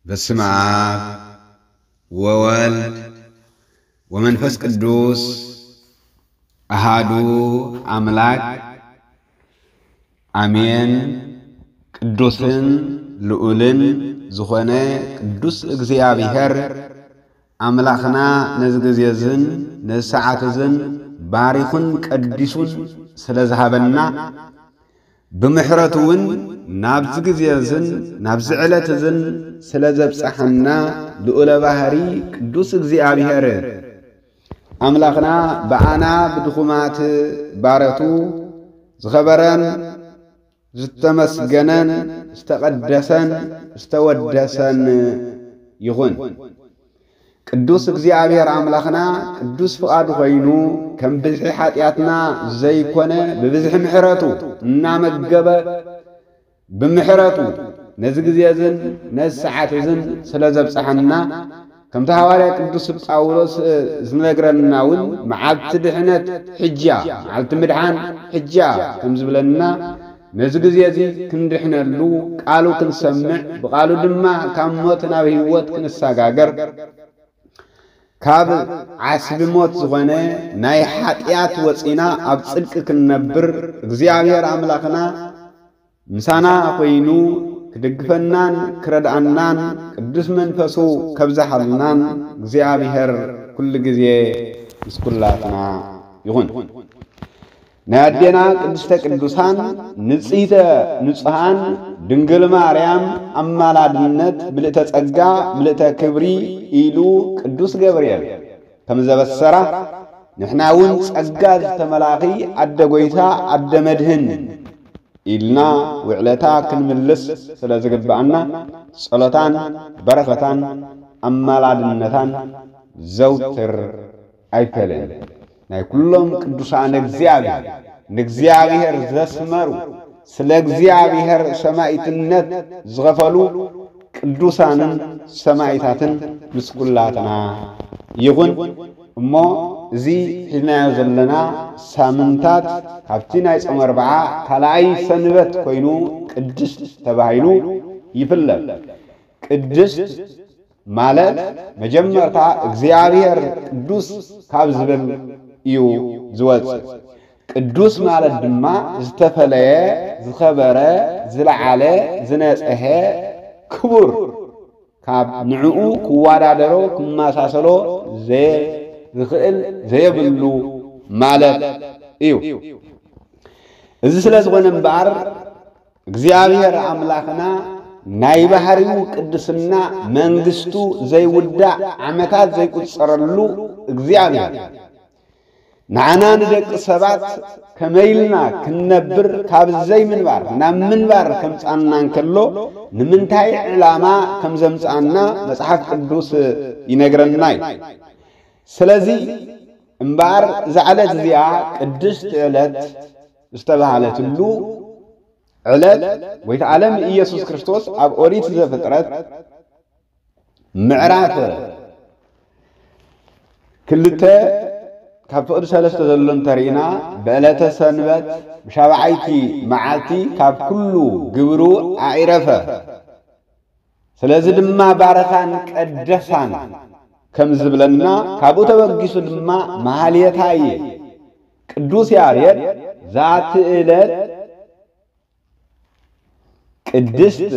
በስመ አብ ወወልድ ወመንፈስ ቅዱስ አሃዱ አምላክ አሜን። ቅዱስን ልዑልን ዝኾነ ቅዱስ እግዚኣብሔር አምላኽና ነዚ ግዜ እዝን ነዚ ሰዓት እዝን ባሪኹን ቀዲሱን ስለ ዝሃበና፣ ብምሕረቱ እውን ናብዚ ግዜ እዝን ናብዚ ዕለት እዝን ስለ ዘብጽሓና፣ ልዑለ ባህሪ ቅዱስ እግዚኣብሔር ኣምላኽና ብኣና ብድኹማት ባረቱ ዝኸበረን ዝተመስገነን ዝተቐደሰን ዝተወደሰን ይኹን። ቅዱስ እግዚኣብሔር ኣምላኽና ቅዱስ ፍቓዱ ኮይኑ፣ ከም ብዝሒ ሓጢኣትና ዘይኮነ፣ ብብዝሒ ምሕረቱ እናመገበ፣ ብምሕረቱ ነዚ ግዜ እዝን ነዚ ሰዓት እዝን ስለ ዘብጽሓና፣ ከምቲ ሃዋርያ ቅዱስ ጳውሎስ ዝነግረና እውን፣ መዓልቲ ድሕነት ሕጂ እያ፣ መዓልቲ ምድሓን ሕጂ እያ ከም ዝብለና፣ ነዚ ግዜ እዚ ክንድሕነሉ፣ ቃሉ ክንሰምዕ፣ ብቃሉ ድማ ካብ ሞት ናብ ህይወት ክንሰጋገር፣ ካብ ዓስቢ ሞት ዝኾነ ናይ ሓጢኣት ወፂና ኣብ ጽድቂ ክንነብር፣ እግዚኣብሔር ኣምላኽና ምሳና ኮይኑ ክድግፈናን ክረድኣናን፣ ቅዱስ መንፈሱ ከብዝሓልናን እግዚኣብሔር ኩሉ ግዜ ምስ ኩላትና ይኹን። ናይ ኣዴና ቅድስተ ቅዱሳን ንጽሕተ ንጹሃን ድንግል ማርያም ኣማላድነት ምልእተ ጸጋ ምልእተ ክብሪ ኢሉ ቅዱስ ገብርኤል ከም ዘበሰራ፣ ንሕና እውን ጸጋ ዝተመላኺ ኣደ ጐይታ ኣደ መድህን ኢልና ውዕለታ ክንምልስ ስለ ዝግብኣና፣ ጸሎታን በረኸታን ኣማላድነታን ዘውትር ኣይፈልን። ናይ ኩሎም ቅዱሳን እግዚኣብሔር፣ ንእግዚኣብሔር ዘስመሩ፣ ስለ እግዚኣብሔር ሰማዕትነት ዝኸፈሉ ቅዱሳንን ሰማዕታትን ምስ ኩላትና ይኹን። እሞ እዚ ሒዝናዮ ዘለና ሳምንታት ካብቲ ናይ ጾመ ኣርብዓ ካልኣይ ሰንበት ኮይኑ ቅድስት ተባሂሉ ይፍለጥ። ቅድስት ማለት መጀመርታ እግዚኣብሔር ቅዱስ ካብ ዝብል እዩ ዝወጽእ። ቅዱስ ማለት ድማ ዝተፈለየ፣ ዝኸበረ፣ ዝለዓለ፣ ዝነጽሐ፣ ክቡር፣ ካብ ንዕኡ ክወዳደሮ ክመሳሰሎ ዘየ-፣ ዝኽእል ዘየብሉ ማለት እዩ። እዚ ስለ ዝኾነ እምበኣር እግዚኣብሔር ኣምላኽና ናይ ባህሪኡ ቅድስና መንግስቱ ዘይውዳእ ዓመታት ዘይቁጸረሉ እግዚኣብሔር ንዓና ንደቂ ሰባት ከመይ ኢልና ክንነብር ካብ ዘይምንባር ናብ ምንባር ከምጻና እንከሎ ንምንታይ ዕላማ ከም ዘምጻና መጽሓፍ ቅዱስ ይነግረና እዩ። ስለዚ እምበኣር እዛ ዕለት እዚኣ ቅድስቲ ዕለት ዝተባህለትሉ ዕለት ጐይታ ዓለም ኢየሱስ ክርስቶስ ኣብ ኦሪት ዘፍጥረት ምዕራፍ ክልተ ካብ ፍቕዲ ሰለስተ ዘሎ እንተርኢና፣ ብዕለተ ሰንበት ብሻብዓይቲ መዓልቲ ካብ ኩሉ ግብሩ ኣዒረፈ። ስለዚ ድማ ባረኻን ቀደሳን ከም ዝብለና፣ ካብኡ ተበጊሱ ድማ መሃልየታይ ቅዱስ ያሬድ ዛቲ ዕለት ቅድስት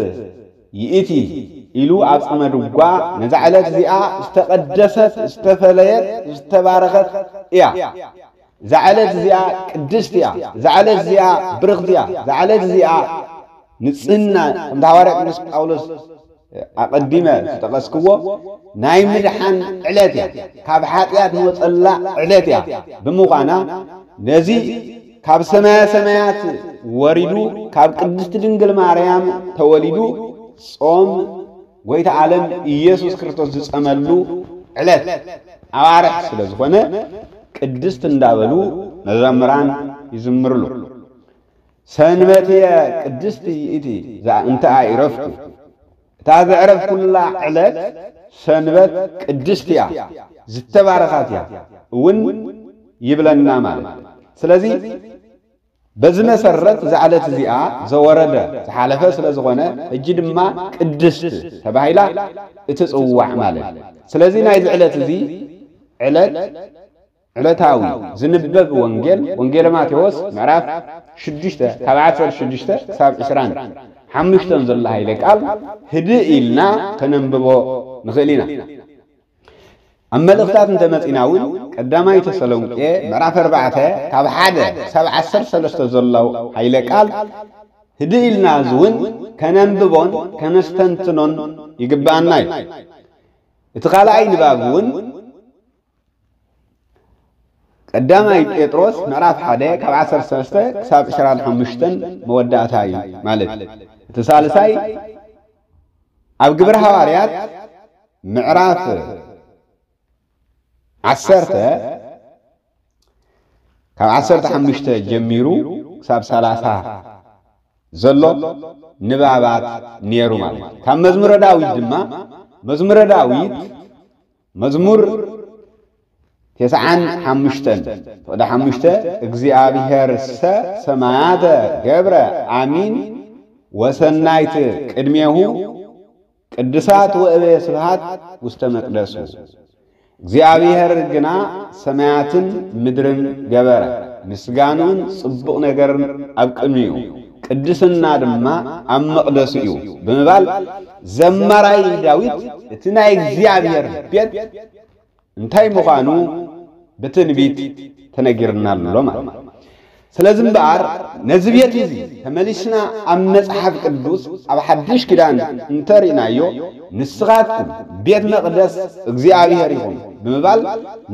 ይእቲ ኢሉ ኣብ ጸመ ድጓ ነዛ ዕለት እዚኣ ዝተቐደሰት፣ ዝተፈለየት፣ ዝተባረኸት እያ። እዛ ዕለት እዚኣ ቅድስት እያ። እዛ ዕለት እዚኣ ብርኽቲ እያ። እዛ ዕለት እዚኣ ንጽህና፣ ከምቲ ሃዋርያ ቅዱስ ጳውሎስ ኣቐዲመ ዝጠቐስክዎ፣ ናይ ምድሓን ዕለት እያ። ካብ ሓጢኣት ንወጸላ ዕለት እያ ብምዃና፣ ነዚ ካብ ሰማየ ሰማያት ወሪዱ፣ ካብ ቅድስቲ ድንግል ማርያም ተወሊዱ፣ ጾም ጐይታ ዓለም ኢየሱስ ክርስቶስ ዝጸመሉ ዕለት ኣዋርሕ ስለ ዝኾነ፣ ቅድስት እንዳበሉ መዘምራን ይዝምርሉ። ሰንበትየ ቅድስቲ ይእቲ እዛ እንተ ኣኢረፍኩ፣ እታ ዘዕረፍኩላ ዕለት ሰንበት ቅድስት እያ፣ ዝተባረኻት እያ እውን ይብለና ማለት። ስለዚ በዚ መሰረት እዛ ዕለት እዚኣ ዘወረደ ዝሓለፈ ስለ ዝኾነ፣ ሕጂ ድማ ቅድስት ተባሂላ እትጽዋዕ ማለት እዩ። ስለዚ ናይዚ ዕለት እዚ ዕለት ዕለታዊ ዝንበብ ወንጌል፣ ወንጌል ማቴዎስ ምዕራፍ ሽዱሽተ ካብ ዓሰርተ ሽዱሽተ ክሳብ ዕስራን ሓሙሽተን ዘሎ ኃይለ ቃል ህድእ ኢልና ከነንብቦ ንኽእል ኢና። ኣብ መልእኽታት እንተመጺና እውን ቀዳማይ ተሰሎንቄ ምዕራፍ ኣርባዕተ ካብ ሓደ ክሳብ ዓሰርተ ሰለስተ ዘሎ ኃይለ ቃል ህድእ ኢልና እዚ እውን ከነንብቦን ከነስተንትኖን ይግብኣና እዩ። እቲ ካልኣይ ንባብ እውን ቀዳማይ ጴጥሮስ ምዕራፍ ሓደ ካብ ዓሰርተ ሰለስተ ክሳብ ዕስራን ሓሙሽተን መወዳእታ እዩ ማለት እዩ። እቲ ሳልሳይ ኣብ ግብረ ሃዋርያት ምዕራፍ ዓሰርተ ካብ ዓሰርተ ሓሙሽተ ጀሚሩ ክሳብ ሰላሳ ዘሎ ንባባት ነይሩ ማለት እዩ። ካብ መዝሙረ ዳዊት ድማ መዝሙረ ዳዊት መዝሙር ተስዓን ሓሙሽተን ፍቕዲ ሓሙሽተ እግዚኣብሔርሰ ሰማያተ ገብረ ኣሚን ወሰናይት ቅድሜሁ ቅዱሳት ወእበየ ስብሃት ውስተ መቅደሱ። እግዚኣብሔር ግና ሰማያትን ምድርን ገበረ፣ ምስጋንኡን ጽቡቕ ነገርን ኣብ ቅድሚኡ፣ ቅድስና ድማ ኣብ መቕደሱ እዩ ብምባል ዘማራይ ዳዊት እቲ ናይ እግዚኣብሔር ቤት እንታይ ምዃኑ ብትንቢት ተነጊርና ኣሎ ማለት እዩ። ስለዚ እምበኣር ነዚ ቤት እዚ ተመሊስና ኣብ መጽሓፍ ቅዱስ ኣብ ሓድሽ ኪዳን እንተርኢናዮ ንስኻትኩም ቤት መቕደስ እግዚኣብሔር ኢኹም ብምባል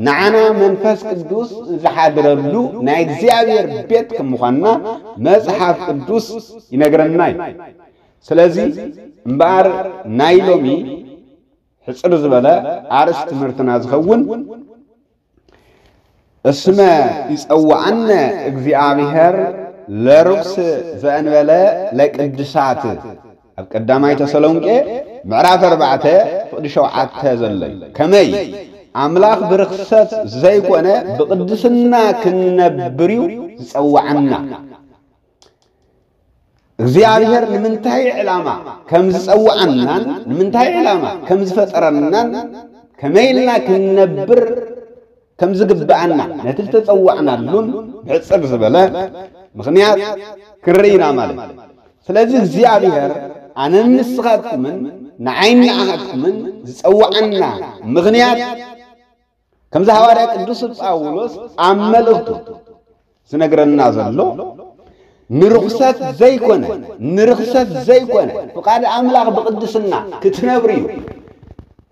ንዓና መንፈስ ቅዱስ ዝሓድረሉ ናይ እግዚኣብሔር ቤት ከም ምዃንና መጽሓፍ ቅዱስ ይነግረና እዩ። ስለዚ እምበኣር ናይ ሎሚ ሕጽር ዝበለ ኣርእስቲ ትምህርትና ዝኸውን እስመ ይጸውዓነ እግዚኣብሔር ለርኩስ ዘእንበለ ለቅድሳት ኣብ ቀዳማይ ተሰሎንቄ ምዕራፍ ኣርባዕተ ፍቕዲ ሸውዓተ ዘሎ እዩ። ከመይ ኣምላኽ ብርኽሰት ዘይኮነ ብቕድስና ክንነብር እዩ ዝጸውዓና። እግዚኣብሔር ንምንታይ ዕላማ ከም ዝጸውዓናን ንምንታይ ዕላማ ከም ዝፈጠረናን ከመይ ኢልና ክንነብር ከም ዝግብኣና ነቲ ዝተጸዋዕናሉን ብሕጽር ዝበለ ምኽንያት ክንርኢ ኢና ማለት እዩ። ስለዚ እግዚኣብሔር ኣነን ንስኻትኩምን ንዓይን ንዓኻትኩምን ዝጸዋዓና ምኽንያት ከምዚ ሃዋርያ ቅዱስ ጳውሎስ ኣብ መልእኽቱ ዝነግረና ዘሎ ንርኽሰት ዘይኮነ ንርኽሰት ዘይኮነ ፍቓድ ኣምላኽ ብቕድስና ክትነብሩ እዩ።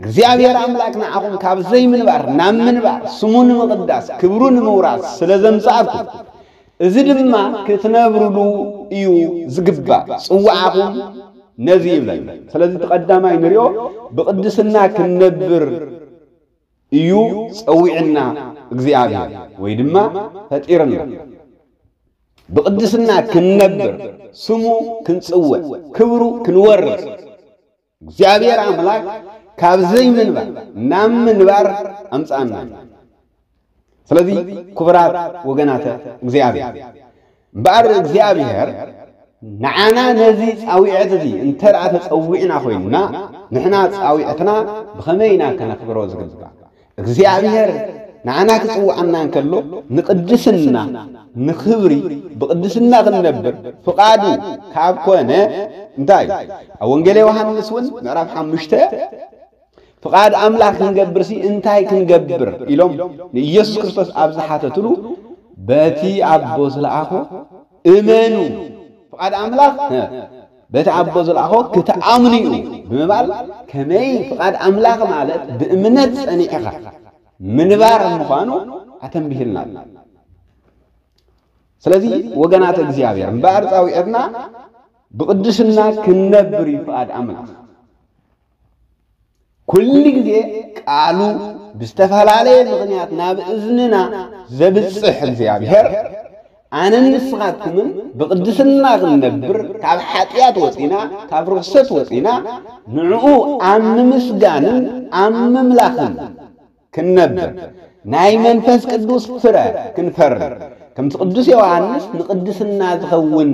እግዚኣብሔር ኣምላኽ ንዓኹም ካብ ዘይምንባር ናብ ምንባር ስሙ ንምቕዳስ ክብሩ ንምውራስ ስለ ዘምጽኣኩም እዚ ድማ ክትነብሩሉ እዩ ዝግባእ። ጽዋዕኹም ነዚ ይብለና። ስለዚ እቲ ቀዳማይ ንሪኦ ብቕድስና ክንነብር እዩ ጸዊዕና እግዚኣብሔር ወይ ድማ ፈጢርና። ብቕድስና ክንነብር ስሙ ክንጽውዕ ክብሩ ክንወርስ እግዚኣብሔር ኣምላኽ ካብ ዘይምንባር ናብ ምንባር ኣምጻኣና። ስለዚ ክቡራት ወገናተ እግዚኣብሔር እምበኣር እግዚኣብሔር ንዓና ነዚ ጻዊዐት እዚ እንተ ደኣ ተጸዊዕና ኮይንና ንሕና ጻዊዕትና ብኸመይ ኢና ከነኽብሮ ዝግባእ? እግዚኣብሔር ንዓና ክጽውዓና እንከሎ ንቕድስና ንኽብሪ ብቕድስና ክንነብር ፍቓዱ ካብ ኮነ እንታይ ኣብ ወንጌል ዮሃንስ እውን ምዕራፍ ሓሙሽተ ፍቓድ ኣምላኽ ክንገብርሲ እንታይ ክንገብር ኢሎም ንኢየሱስ ክርስቶስ ኣብ ዝሓተትሉ በቲ ኣቦ ዝለኣኾ እመኑ። ፍቓድ ኣምላኽ በቲ ኣቦ ዝለኣኾ ክትኣምኑ እዩ ብምባል ከመይ ፍቓድ ኣምላኽ ማለት ብእምነት ጸኒዕኻ ምንባር ምዃኑ ኣተንቢህልና ኣሎ። ስለዚ ወገናት እግዚኣብሔር እምበኣር ጻዊዕትና ብቕድስና ክንነብር እዩ ፍቓድ ኣምላኽ። ኩሉ ግዜ ቃሉ ብዝተፈላለየ ምኽንያት ናብ እዝንና ዘብጽሕ እግዚኣብሔር ኣነን ንስኻትኩምን ብቕድስና ክንነብር ካብ ሓጢኣት ወፂና ካብ ርኽሰት ወፂና ንዕኡ ኣብ ምምስጋንን ኣብ ምምላኽን ክንነብር ናይ መንፈስ ቅዱስ ፍረ ክንፈሪ ከምቲ ቅዱስ ዮሃንስ ንቅድስና ዝኸውን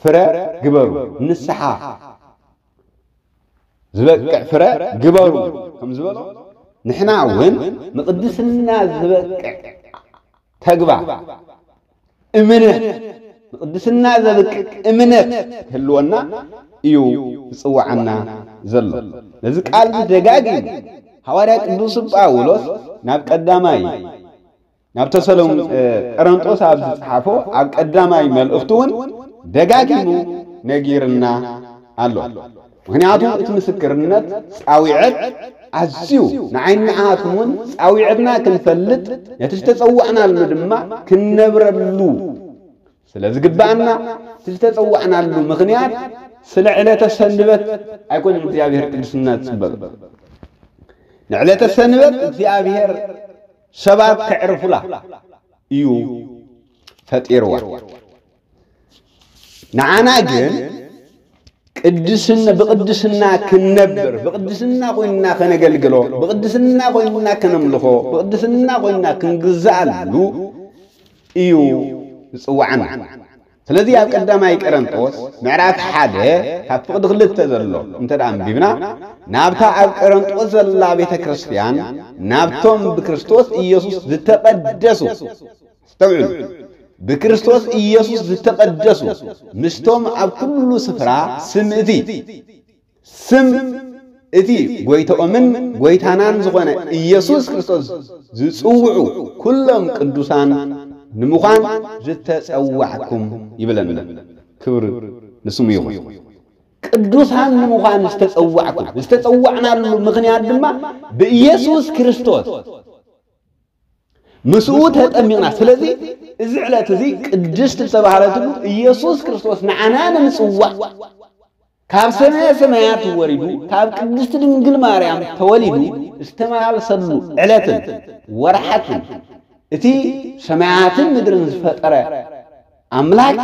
ፍረ ግበሩ፣ ንስሓ ዝበቅዕ ፍረ ግበሩ ከም ዝበሎ፣ ንሕና እውን ንቅድስና ዝበቅዕ ተግባር፣ እምነት፣ ንቅድስና ዘብቅዕ እምነት ክህልወና እዩ ዝጽውዓና ዘሎ። ነዚ ቃል እዚ ደጋጊሙ ሃዋርያ ቅዱስ ጳውሎስ ናብ ቀዳማይ ናብ ተሰሎን-፣ እ፣ ቀረንጦስ ኣብ ዝጸሓፎ ኣብ ቀዳማይ መልእኽቱ እውን ደጋጊሙ ነጊርና ኣሎ። ምኽንያቱ እቲ ምስክርነት ጻዊዐት ኣዝዩ ንዓይኒ ንዓኹም እውን ጻዊዐትና ክንፈልጥ፣ ነቲ ዝተጸዋዕናሉ ድማ ክንነብረሉ ስለ ዝግባኣና፣ እቲ ዝተጸዋዕናሉ ምኽንያት ስለ ዕለተ ሰንበት ኣይኮነን እግዚኣብሔር ቅድስና ዝጽበብ። ንዕለተ ሰንበት እግዚኣብሔር ሰባት ከዕርፉላ እዩ ፈጢርዋ። ንዓና ግን ቅድስና፣ ብቅድስና ክንነብር፣ ብቅድስና ኮይንና ከነገልግሎ፣ ብቅድስና ኮይንና ከነምልኾ፣ ብቅድስና ኮይንና ክንግዝኣሉ እዩ ዝጽውዓና። ስለዚ ኣብ ቀዳማይ ቀረንጦስ ምዕራፍ ሓደ ካብ ፍቕዲ ክልተ ዘሎ እንተ ደኣ ኣንቢብና፣ ናብታ ኣብ ቀረንጦስ ዘላ ቤተ ክርስቲያን፣ ናብቶም ብክርስቶስ ኢየሱስ ዝተቐደሱ፣ ኣስተውዕሉ፣ ብክርስቶስ ኢየሱስ ዝተቐደሱ፣ ምስቶም ኣብ ኩሉ ስፍራ ስም እቲ፣ ስም እቲ ጎይታኦምን ጎይታናን ዝኾነ ኢየሱስ ክርስቶስ ዝጽውዑ ኩሎም ቅዱሳን ንምዃን ዝተጸዋዕኩም ይብለና። ክብሪ ንስሙ ይኹን። ቅዱሳን ንምዃን ዝተጸዋዕኩም፣ ዝተጸዋዕናሉ ምኽንያት ድማ ብኢየሱስ ክርስቶስ ምስኡ ተጠሚቕና። ስለዚ እዚ ዕለት እዚ ቅድስት ዝተባህለትሉ ኢየሱስ ክርስቶስ ንዓና ንምጽዋዕ ካብ ሰማየ ሰማያት ወሪዱ፣ ካብ ቅድስት ድንግል ማርያም ተወሊዱ ዝተመላለሰሉ ዕለትን ወርሓትን፣ እቲ ሰማያትን ምድርን ዝፈጠረ ኣምላክ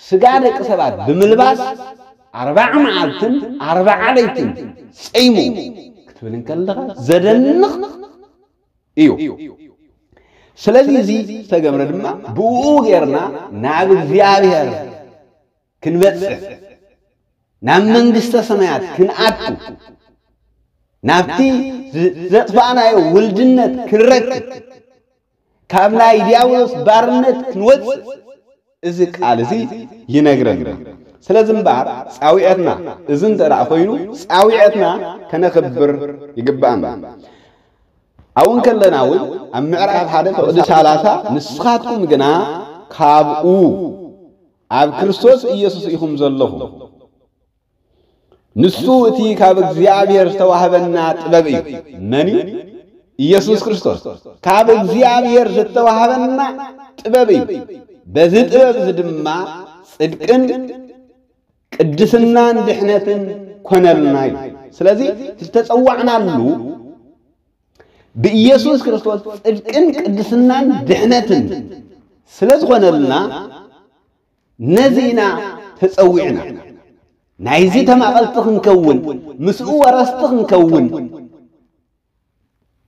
ስጋ ደቂ ሰባት ብምልባስ ኣርባዓ መዓልትን ኣርባዓ ለይትን ጸይሙ ክትብል እንከለኻ ዘደንቕ እዩ። ስለዚ እዚ ዝተገብረ ድማ ብኡ ጌርና ናብ እግዚኣብሔር ክንበጽሕ፣ ናብ መንግስተ ሰማያት ክንኣቱ፣ ናብቲ ዝ-፣ ዘጥፋእናዮ ውልድነት ክንረክብ፣ ካብ ናይ ዲያብሎስ ባርነት ክንወጽእ እዚ ቃል እዚ ይነግረና። ስለዚ እምበኣር ጻዊዐትና እዚ እንተ ደኣ ኮይኑ ጻዊዐትና ከነኽብር ይግብኣና። ኣብኡ እንከለና እውን ኣብ ምዕራፍ ሓደ ፍቕዲ ሰላሳ ንስኻትኩም ግና ካብኡ ኣብ ክርስቶስ ኢየሱስ ኢኹም ዘለኹም። ንሱ እቲ ካብ እግዚኣብሔር ዝተዋህበና ጥበብ እዩ። መን እዩ? ኢየሱስ ክርስቶስ። ካብ እግዚኣብሔር ዝተዋህበና ጥበብ እዩ። በዚ ጥበብ እዚ ድማ ጽድቅን ቅድስናን ድሕነትን ኮነልና እዩ። ስለዚ ዝተጸዋዕናሉ ብኢየሱስ ክርስቶስ ጽድቅን ቅድስናን ድሕነትን ስለ ዝኾነልና ነዚ ኢና ተጸዊዕና። ናይዚ ተማቐልቲ ክንከውን፣ ምስኡ ወረስቲ ክንከውን፣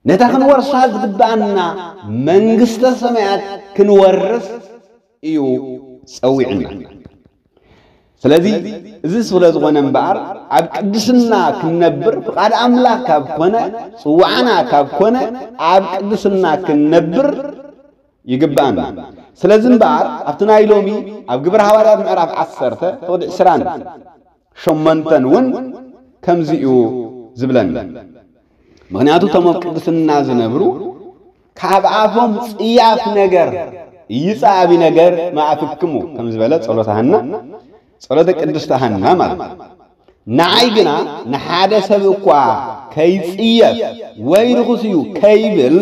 ነታ ክንወርሳ ዝግብኣና መንግስተ ሰማያት ክንወርስ እዩ ጸዊዕና። ስለዚ እዚ ስለ ዝኾነ እምበኣር ኣብ ቅድስና ክንነብር ፍቓድ ኣምላኽ ካብ ኮነ፣ ጽዋዕና ካብ ኮነ፣ ኣብ ቅድስና ክንነብር ይግብኣና። ስለዚ እምበኣር ኣብቲ ናይ ሎሚ ኣብ ግብረ ሃዋርያት ምዕራፍ ዓሰርተ ፍቕዲ ዕስራን ሸሞንተን እውን ከምዚ እዩ ዝብለና። ምኽንያቱ እቶም ኣብ ቅድስና ዝነብሩ ካብ ኣፎም ጽያፍ ነገር ይጻቢ ነገር ማእፍክሙ ከም ዝበለ ጸሎተ ሃና፣ ጸሎተ ቅድስተ ሃና ማለት እዩ። ንዓይ ግና ንሓደ ሰብ እኳ ከይጽየፍ ወይ ርኹስ እዩ ከይብል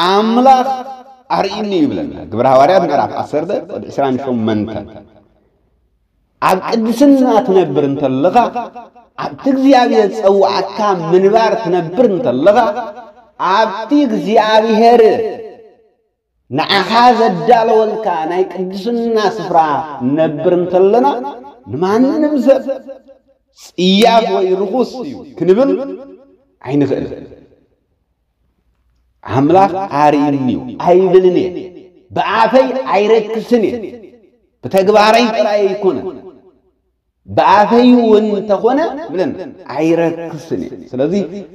ኣምላኽ ኣርእዩኒ ይብለና። ግብረ ሃዋርያት ምዕራፍ ዓሰርተ ቁጽሪ ዕስራን ሸሞንተን። ኣብ ቅድስና ትነብር እንተለኻ፣ ኣብቲ እግዚኣብሔር ዝጸውዓካ ምንባር ትነብር እንተለኻ፣ ኣብቲ እግዚኣብሔር ንዓኻ ዘዳለወልካ ናይ ቅድስና ስፍራ ነብር እንተለና፣ ንማንም ሰብ ጽያፍ ወይ ርኹስ እዩ ክንብል ኣይንኽእልን። ኣምላኽ ኣርእዩኒ እዩ ኣይብልን እየ። ብኣፈይ ኣይረክስን እየ። ብተግባረይ ጥራይ ኣይኮነን። ብኣፈይ እውን እንተኾነ ብለን ኣይረክስን እየ። ስለዚ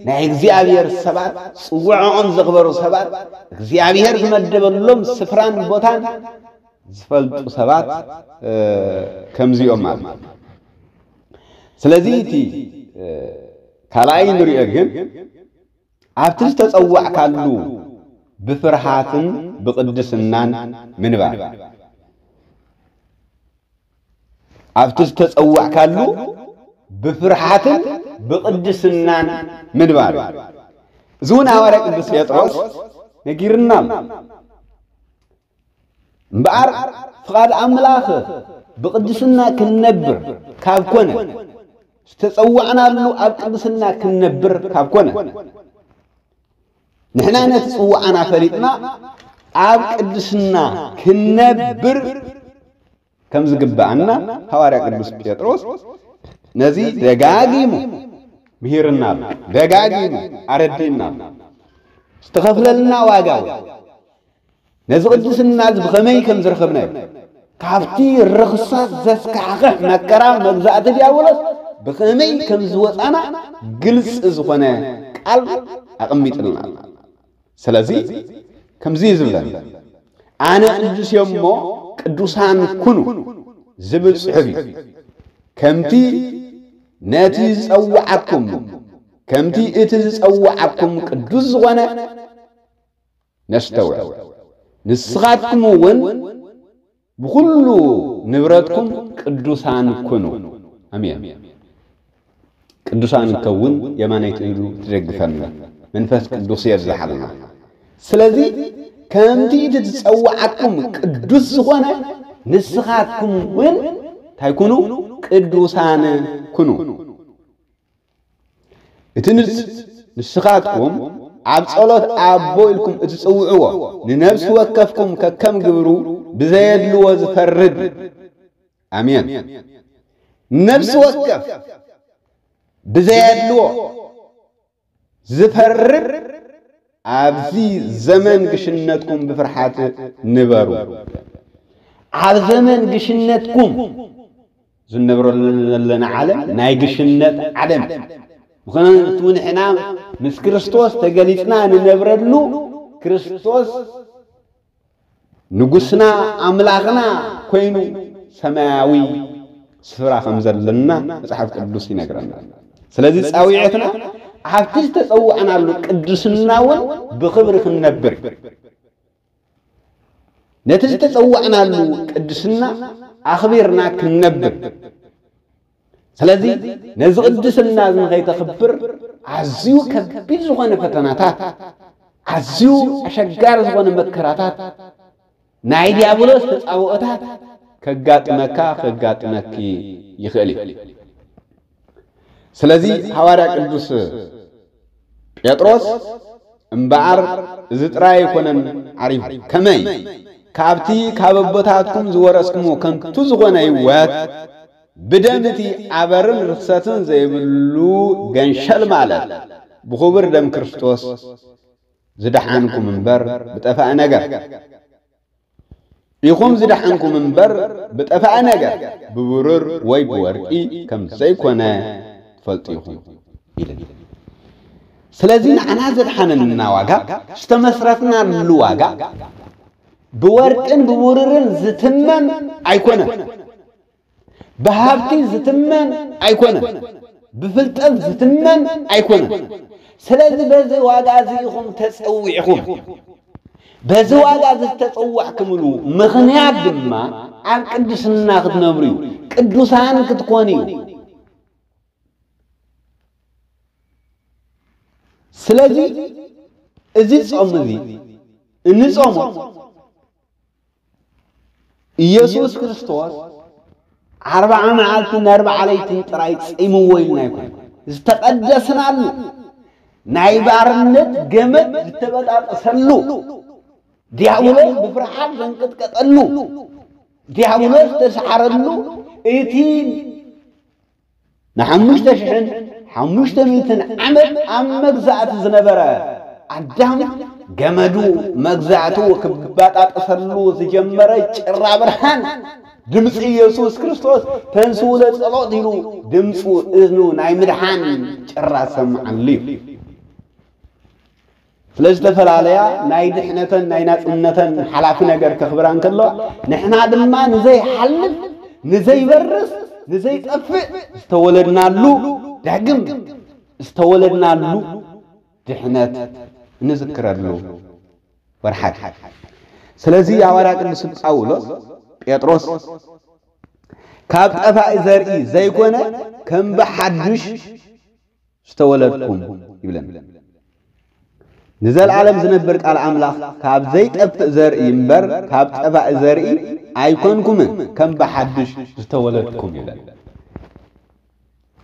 ናይ እግዚኣብሔር ሰባት፣ ጽውዖኦም ዘኽበሩ ሰባት፣ እግዚኣብሔር ዝመደበሎም ስፍራን ቦታን ዝፈልጡ ሰባት፣ እ፣ ከምዚኦም ማለት እዩ። ስለዚ እቲ፣ እ፣ ካልኣይ ንሪኦ ግን ኣብቲ ዝተጸዋዕካሉ ብፍርሃትን ብቕድስናን ምንባር። ኣብቲ ዝተጸዋዕካሉ ብፍርሃትን ብቕድስናን ምንባር። እዚ እውን ሃዋርያ ቅዱስ ጴጥሮስ ነጊርና ኣሎ። እምበኣር ፍቓድ ኣምላኽ ብቕድስና ክንነብር ካብ ኮነ፣ ዝተጸዋዕናሉ ኣብ ቅድስና ክንነብር ካብ ኮነ፣ ንሕና ነቲ ጽዋዕና ፈሊጥና ኣብ ቅድስና ክንነብር ከም ዝግብኣና ሃዋርያ ቅዱስ ጴጥሮስ ነዚ ደጋጊሙ ምሂርና ኣሎ። ደጋጊሙ ኣረዲእና ኣሎ። ዝተኸፍለልና ዋጋ እውን ነዚ ቅድስና እዚ ብኸመይ ከም ዝረኸብናዮ፣ ካብቲ ርኽሰት ዘስካሕክሕ መከራ መግዛእቲ ዲያብሎስ ብኸመይ ከም ዝወጻና ግልጺ ዝኾነ ቃል ኣቐሚጥልና ኣሎ። ስለዚ ከምዚ እዩ ዝብለና፣ "ኣነ ቅዱስ እየ እሞ ቅዱሳን ኩኑ" ዝብል ጽሑፍ እዩ። ከምቲ ነቲ ዝጸውዓኩም፣ ከምቲ እቲ ዝጸውዓኩም ቅዱስ ዝኾነ ነስተውዕል። ንስኻትኩም እውን ብኹሉ ንብረትኩም ቅዱሳን ኩኑ። ኣሜን። ቅዱሳን ንከውን የማነይቲ ኢዱ ትደግፈና። መንፈስ ቅዱስ የብዝሓልና። ስለዚ ከምቲ እቲ ዝጸውዓኩም ቅዱስ ዝኾነ ንስኻትኩም እውን እንታይ ኩኑ? ቅዱሳን ኩኑ። እቲ ንስ-፣ ንስኻትኩም ኣብ ጸሎት ኣቦ ኢልኩም እትጽውዕዎ ንነፍሲ ወከፍኩም ከከም ግብሩ ብዘየድልዎ ዝፈርድ። ኣሜን። ነፍሲ ወከፍ ብዘየድልዎ ዝፈርድ ኣብዚ ዘመን ግሽነትኩም ብፍርሓት ንበሩ። ኣብ ዘመን ግሽነትኩም ዝነብረሉ ዘለና ዓለም ናይ ግሽነት ዓለም። ምኽንያቱ ንሕና ምስ ክርስቶስ ተገሊጽና ንነብረሉ ክርስቶስ ንጉስና ኣምላኽና ኮይኑ ሰማያዊ ስፍራ ከም ዘለና መጽሓፍ ቅዱስ ይነግረና። ስለዚ ጻውዒትና ኣብቲ ዝተጸዋዕናሉ ቅድስና እውን ብኽብሪ ክንነብር እዩ። ነቲ ዝተጸዋዕናሉ ቅድስና ኣኽቢርና ክንነብር። ስለዚ ነዚ ቅድስና እዚ ንኸይተኽብር ኣዝዩ ከቢድ ዝኾነ ፈተናታት፣ ኣዝዩ ኣሸጋሪ ዝኾነ መከራታት፣ ናይ ዲያብሎስ ተጻብኦታት ከጋጥመካ፣ ከጋጥመኪ ይኽእል እዩ። ስለዚ ሃዋርያ ቅዱስ ጴጥሮስ እምበኣር እዚ ጥራይ ኣይኮነን ዓሪፉ። ከመይ? ካብቲ ካብ ኣቦታትኩም ዝወረስኩሞ ከንቱ ዝኾነ ህይወት ብደም እቲ ኣበርን ርኽሰትን ዘይብሉ ገንሸል ማለት ብኽቡር ደም ክርስቶስ ዝደሓንኩም እምበር ብጠፋእ ነገር ኢኹም ዝደሓንኩም እምበር ብጠፋእ ነገር ብብሩር ወይ ብወርቂ ከም ዘይኮነ ትፈልጡ ኢኹም ኢልን። ስለዚ ንዓና ዘድሓነና ዋጋ፣ ዝተመስረትናሉ ዋጋ ብወርቅን ብብሩርን ዝትመን ኣይኮነን። ብሃብቲ ዝትመን ኣይኮነን። ብፍልጠት ዝትመን ኣይኮነን። ስለዚ በዚ ዋጋ እዚ ኢኹም ተጸዊዕኹም። በዚ ዋጋ እዚ ዝተጸዋዕኩምሉ ምኽንያት ድማ ኣብ ቅድስና ክትነብሩ እዩ። ቅዱሳን ክትኮኑ እዩ። ስለዚ እዚ ጾም እዚ እንጾሞ ኢየሱስ ክርስቶስ ኣርብዓ መዓልትን ኣርብዓ ለይትን ጥራይ ጺምዎ ኢልና ኣይኮነን። ዝተቐደስናሉ፣ ናይ ባርነት ገመድ ዝተበጣጠሰሉ፣ ዲያብሎስ ብፍርሓት ዘንቀጥቀጠሉ፣ ዲያብሎስ ዝተሰዓረሉ፣ እቲ ንሓሙሽተ ሽሕን ሓሙሽተ ሚእትን ዓመት ኣብ መግዛእቲ ዝነበረ ኣዳም ገመዱ መግዛእቱ ክባጣጠሰሉ ዝጀመረ ጭራ ብርሃን ድምፂ ኢየሱስ ክርስቶስ ተንስኡ ለጸሎት ኢሉ ድምፁ እዝኑ ናይ ምድሓን ጭራ ዝሰምዓሉ እዩ። ስለ ዝተፈላለያ ናይ ድሕነተን ናይ ናጽነተን ሓላፊ ነገር ከኽብራ እንከሎ ንሕና ድማ ንዘይሓልፍ ንዘይበርስ ንዘይጠፍእ ዝተወለድናሉ ዳግም ዝተወለድናሉ ድሕነት እንዝክረሉ ወርሓት። ስለዚ ሃዋርያ ቅዱስ ጳውሎስ ጴጥሮስ ካብ ጠፋኢ ዘርኢ ዘይኮነ ከም ብሓዱሽ ዝተወለድኩም ይብለን። ንዘለዓለም ዝነብር ቃል ኣምላኽ ካብ ዘይጠፍእ ዘርኢ እምበር ካብ ጠፋኢ ዘርኢ ኣይኮንኩምን ከም ብሓዱሽ ዝተወለድኩም ይብለን።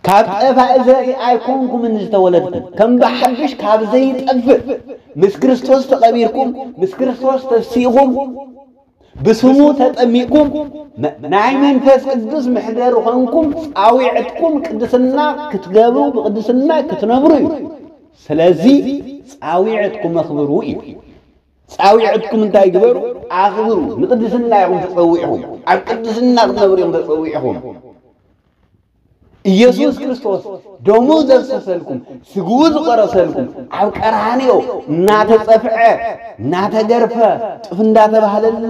ካብ ጠፋኢ ዘርኢ ኣይኮንኩምን ዝተወለድኩም ከም ብሓዱሽ ካብ ዘይጠፍእ ምስ ክርስቶስ ተቐቢርኩም ምስ ክርስቶስ ተሲእኹም ብስሙ ተጠሚቅኩም ናይ መንፈስ ቅዱስ መሕደሪ ኾንኩም ፃዊዕትኩም ቅድስና ክትገብሩ ብቅድስና ክትነብሩ እዩ። ስለዚ ፃዊዕትኩም ኣኽብሩ እዩ። ፃዊዕትኩም እንታይ ግበሩ? ኣኽብሩ። ንቅድስና ኢኹም ተፀዊዕኹም፣ ኣብ ቅድስና ክትነብሩ ኢኹም ተፀዊዕኹም። ኢየሱስ ክርስቶስ ደሙ ዘፍሰሰልኩም ስግኡ ዝቆረሰልኩም ኣብ ቀራንዮ እናተጸፍዐ እናተገርፈ ጥፍ እንዳተባህለሉ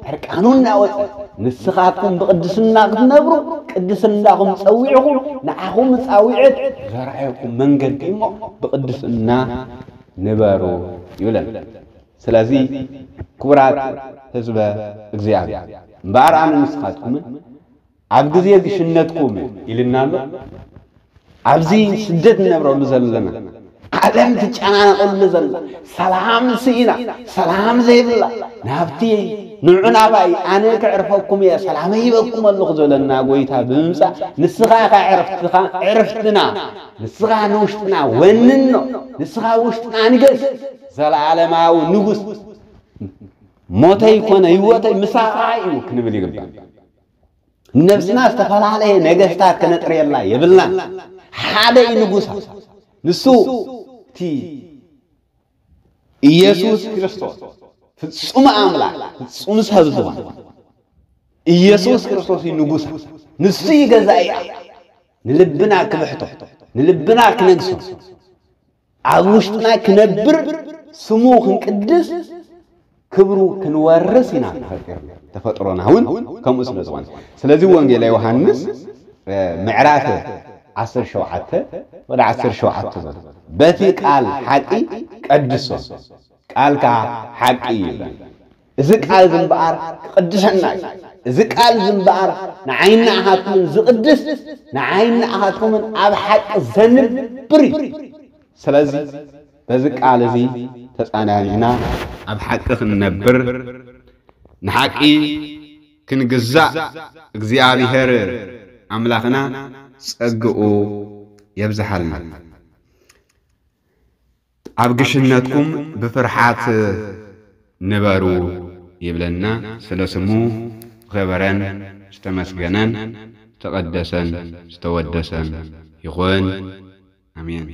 ዕርቃኑ እናወፀ ንስኻትኩም ብቅድስና ክትነብሩ ቅድስናኹም ጸዊዕኹም ንዓኹም ጻዊዕት ዘርኣየኩም መንገዲ እሞ ብቅድስና ንበሩ ይብለን። ስለዚ ክቡራት ህዝበ እግዚኣብሔር እምበኣር ኣነ ንስኻትኩምን ኣብ ግዜ ግሽነትኩም ኢልና ኣሎ። ኣብዚ ስደት ንነብረሉ ዘለና ዓለም ትጨናነቐሉ ዘላ ሰላም ስኢና ሰላም ዘይብላ ናብቲ ንዑ ናባይ ኣነ ክዕርፈኩም እየ ሰላመይ ሂበኩም ኣለኹ ዘለና ጎይታ ብምምፃእ ንስኻ ኢኻ ዕርፍትኻ ዕርፍትና ንስኻ ንውሽጥና ወንኖ ንስኻ ውሽጥና ንገስ ዘለዓለማዊ ንጉስ ሞተይ ኮነ ህይወተይ ምሳኻ እዩ ክንብል ይግባእ። ነብስና ዝተፈላለየ ነገስታት ከነጥርየላ የብልናን። ሓደ እዩ ንጉሳ። ንሱ እቲ ኢየሱስ ክርስቶስ ፍጹም ኣምላኽ ፍጹም ሰብ ዝኾነ ኢየሱስ ክርስቶስ እዩ ንጉሳ። ንሱ እዩ ገዛኢኣ። ንልብና ክብሕቶ፣ ንልብና ክነግሶ፣ ኣብ ውሽጥና ክነብር፣ ስሙ ክንቅድስ፣ ክብሩ ክንወርስ ኢና ተፈጢርና። ተፈጥሮና እውን ከምኡ ስለ ዝኾነ። ስለዚ ወንጌላ ዮሃንስ ምዕራፍ ዓሰርተ ሸውዓተ ወደ ዓሰርተ ሸውዓተ ዘሎ በቲ ቃል ሓቂ ቀድሶ ቃልካ ሓቂ እዩ ይብለና። እዚ ቃል እዚ እምበኣር ክቕድሰና እዩ። እዚ ቃል እዚ እምበኣር ንዓይኒ ንዓኻትኩምን ዝቕድስ ንዓይኒ ንዓኻትኩምን ኣብ ሓቂ ዘንብር እዩ። ስለዚ በዚ ቃል እዚ ተጻናኒዕና ኣብ ሓቂ ክንነብር ንሓቂ ክንግዛእ እግዚኣብሔር ኣምላኽና ጸግኡ የብዝሓልና። ኣብ ግሽነትኩም ብፍርሓት ንበሩ ይብለና። ስለ ስሙ ዝኸበረን ዝተመስገነን ዝተቐደሰን ዝተወደሰን ይኹን። ኣሜን።